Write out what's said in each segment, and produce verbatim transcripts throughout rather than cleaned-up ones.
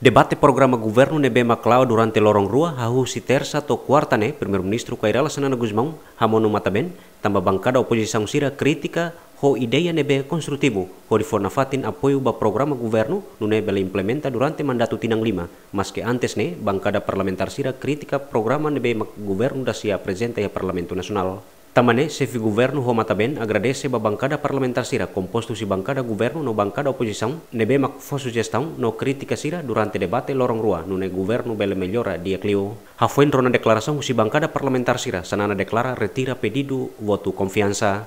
Debate programa governu ne'ebé mak la'o durante loron rua, hahú husi Tersa to'o Kuarta ne'e, Primeiru-Ministru Kay Rala Xanana Gusmão hamonu matan-been, tanba bankada opozisaun sira kritika ho ideia ne'ebé konstrutivu, hodi fó nafatin apoiu ba programa governu, nune'e bele implementa durante mandatu tinan lima. Maske antes ne'e, bankada parlamentár sira kritika programa ne'ebé mak governu dasi aprezenta iha Parlamentu Nasionál. Tanba ne'e, xefe governu ho matan-been agradese ba bankada parlamentár sira kompostu husi bankada governu no bankada opozisaun ne'ebé mak fó sujestaun no kritika sira durante debate loron rua, nune'e governu bele mellora di'ak liu. Hafoin rona deklarasaun husi bankada parlamentár sira, Xanana deklara retira pedidu votu konfiansa.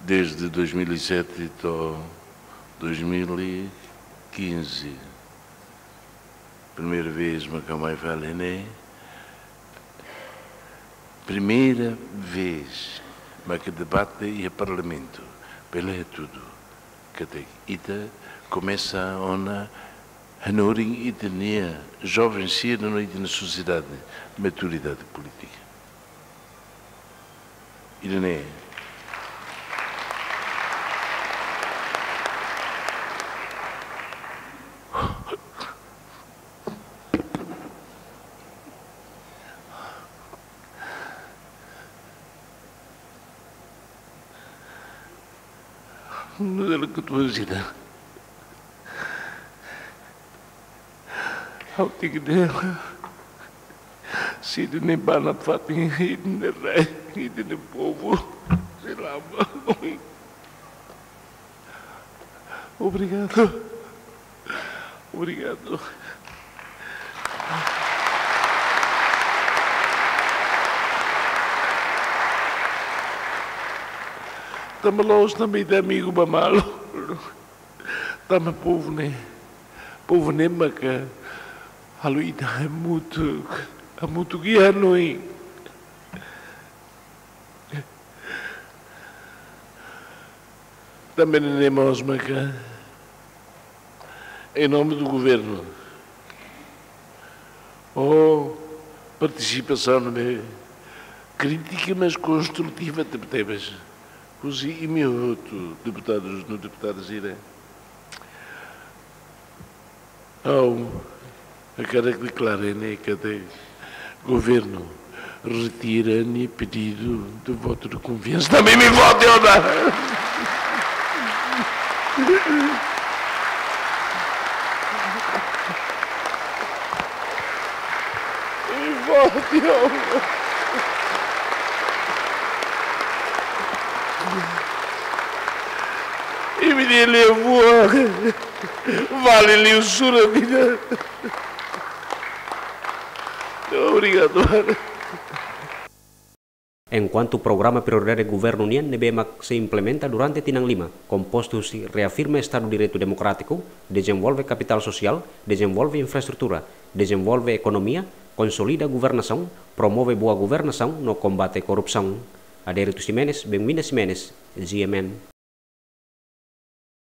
Desde dois mil e sete to'o dois mil e quinze, primeira vez mak ha'u mai fali ne'e, primeira vez mak debate iha Parlamentu, bele hatudu katak ita komesa ona hanorin ita-nia joven sira no ita-nia sosiedade maturidade polítika. Ida-ne'e. Nu'udar katuas ida, ha'u tenke dehan, se ida-ne'e ba nafatin ita-nia rai, ita-nia povu, sei la ba. Obrigadu. Obrigadu. Tanba la'ós tanba ita amigu ba malu. Tanba povu ne'e, povu ne'e maka halo ita hamutuk, hamutuk iha hanoin. Tanba ne'e mós maka, em nome do governo, ho partisipasaun ne'ebé krítika, mas konstrutiva tebetebes, husi imi hotu, deputadus no deputadas sira. Ha'u hakarak deklara ne'e katak governu retira nia pedidu de votu de konfiansa. Tanba imi vota ona. Imi vota ona. Imi-nia liafuan vale liu sura-vida. Obrigadu. Enkuantu programa prioridade governu nian ne'ebé mak sei implementa durante tinan lima, kompostu husi reafirma Estadu Direitu Demokrátiku, dezenvolve kapitál sosiál, dezenvolve infraestrutura, dezenvolve ekonomia, konsolida governasaun, promove boa governasaun no kombate korrupsaun. Adérito Ximenes, Benvinda Ximenes, G M N.